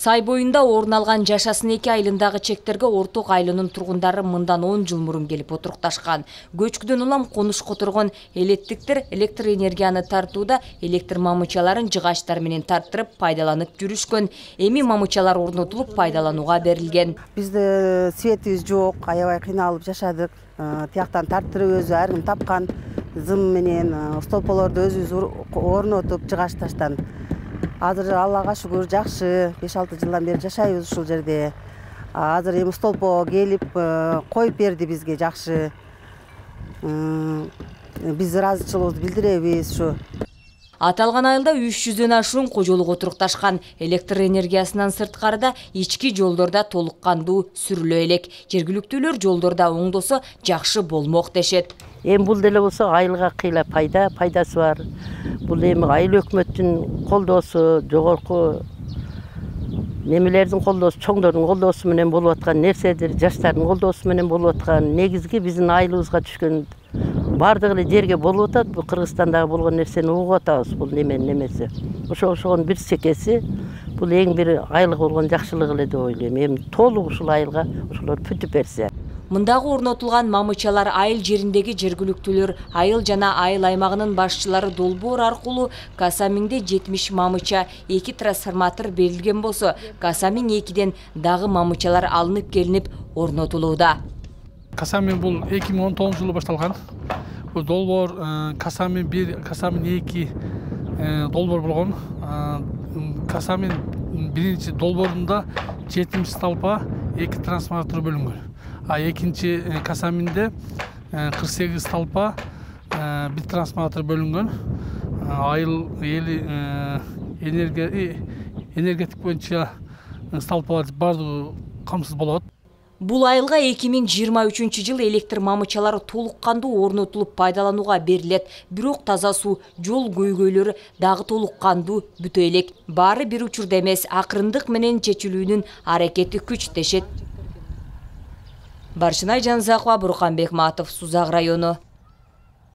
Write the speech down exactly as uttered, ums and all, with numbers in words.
Сай боюнда орун алган жашасын эки айылындагы чектерге Орток айылынын тургундары мындан он жыл мурун келип отурукташкан. Көчкүдөн улам конуш которгон элеттиктер электр энергияны тартууда электр мамычаларын жыгачтар менен тарттырып пайдаланып жүрүшкөн. Эми мамычалар орнотулуп пайдаланууга берилген. Бизде светибиз жок, аябай кыйналып жашадык. Тияктан тарттырып өзү ар ким тапкан зым менен столполорду өзүбүз орнотуп жыгачташтан. Азыр Аллага шүгүр жакшы, беш алты жылдан бери жашайбыз ушул жерде. Азыр эми столпо келип коюп берди бизге жакшы. Биз ыраазычылыгыбызды билдиребиз ушу. Аталган айылда үч жүздөн ашуун кожолук отурукташкан. Электр энергиясынан сырткарыда ички жолдорда толук кандуу сүрүлө элек. Жергиликтүүлөр жолдорда оңдосо жакшы болмок дешет. Эми бул деле болсо айылга кыйла пайда, пайдасы бар. Бул эми айыл өкмөттүн колдоосу, жогорку немелердин колдоосу, чоңдордун колдоосу менен болуп аткан нерседир, жаштардын колдоосу менен болуп аткан. Негизги биздин айылыбызга түшкөн бардык эле жерге болуп атат. Бул Кыргызстандагы болгон нерсени угуп атабыз, бул неменин немеси. Ошо ошонун бир секеси бул эң бир айылга болгон жакшылык эле деп ойлойм. Эми толук ушул айылга ошолор бүтүп берсе. Мындагы орнотулган мамычалар айыл жериндеги жергиликтүүлөр, айыл жана айыл аймагынын башчылары долбоор аркылуу Касамиңде жетимиш мамыча, эки трансформатор берилген болсо, Касамиң экиден дагы мамычалар алынып келинип орнотулууда. Касамиң бул эки миң он тогузунчу жылы башталган. Бул долбоор Касамиң бир, Касамиң эки долбоор болгон. Касамиң биринчи долбоорунда жетимиш столпа, эки трансформатор бөлүнгөн. А экинчи Касамиңде кырк сегиз столпа, бир трансформатор бөлүнгөн. Айыл эли энергия энергетик боюнча столпалар бардыгы камсыз болот. Бул айылга эки миң жыйырма үчүнчү жылы электр мамычалары толук кандуу орнотулуп пайдаланууга берилет. Бирок таза суу, жол көйгөйлөрү дагы толук кандуу бүтө элек. Баары бир учурда эмес, акырындык менен чечилүүнүн аракети күч дешет. Баршынай Жанзакова, Бурканбек Матов, Сузак району.